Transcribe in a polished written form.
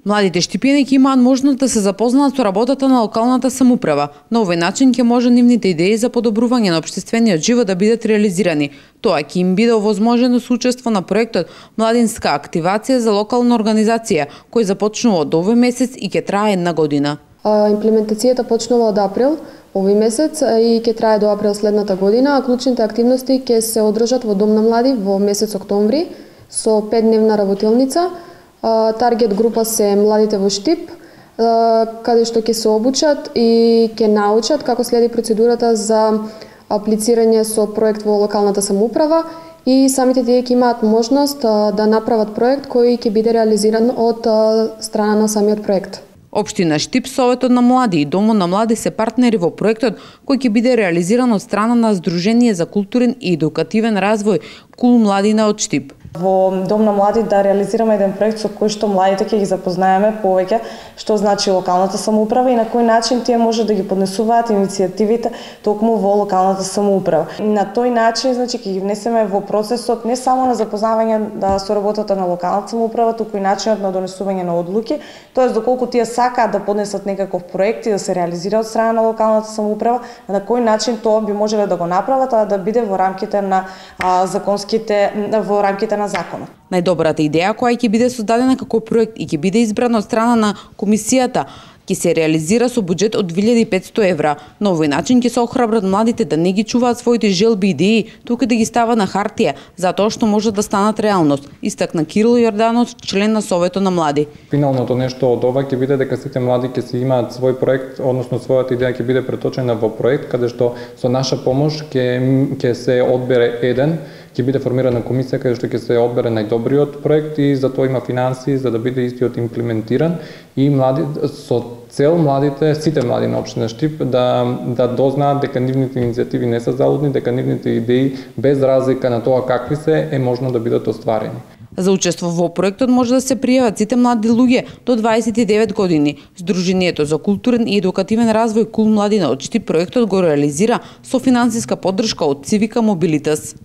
Младите штипјаници имаат можност да се запознаат со работата на локалната самоуправа. На овој начин ќе може нивните идеи за подобрување на општествениот живот да бидат реализирани. Тоа ќе им биде овозможено со учество на проектот Младинска активација за локална организација, кој започнува од овој месец и ќе трае 1 година. Имплементацијата почнува од април овој месец и ќе трае до април следната година, а клучните активности ќе се одржат во Дом на млади во месец октомври со 5-дневна работилница. Таргет група се младите во Штип, каде што ќе се обучат и ќе научат како следи процедурата за аплицирање со проект во локалната самоуправа и самите тие ќе имаат можност да направат проект кој ќе биде реализиран од страна на самиот проект. Општина Штип, Советот на млади и Домот на млади се партнери во проектот кој ќе биде реализиран од страна на Сдружение за културен и едукативен развој Кул младина од Штип. Во Дом на млади да реализираме еден проект со кој што младите ќе ги запознаеме повеќе што значи локалната самоуправа и на кој начин тие може да ги поднесуваат иницијативите токму во локалната самоуправа. На тој начин значи ќе ги внесеме во процесот не само на запознавање со работата на локалната самоуправа, туку и начинот на донесување на одлуки, тоест доколку тие сакаат да поднесат некаков проект и да се реализира од страна на локалната самоуправа, на кој начин тоа би можеле да го направат, а да биде во рамките на на законот. Најдобрата идеја која ќе биде создадена како проект и ќе биде избрана од страна на комисијата ќе се реализира со буџет од 2500 евра. На овој начин ќе се охрабрат младите да не ги чуваат своите желби и идеи, туку да ги стават на хартија, затоа што може да станат реалност, истакна Кирил Јорданов, член на Советот на млади. Финалното нешто од ова ќе биде дека сите млади ќе си имаат свој проект, односно својата идеја ќе биде преточена во проект каде што со наша помош ќе се одбере еден, ќе биде формирана комисија каде што ќе се одбере најдобриот проект и за тоа има финансии за да биде истиот имплементиран и млади со цел младите, сите млади на општина Штип да дознаат дека нивните иницијативи не се залудни, дека нивните идеи без разлика на тоа какви се е можно да бидат остварени. За учество во проектот може да се пријават сите млади луѓе до 29 години. Сдруженијето за културен и едукативен развој Кул младина од Штип проектот го реализира со финансиска поддршка од Цивика Мобилитас.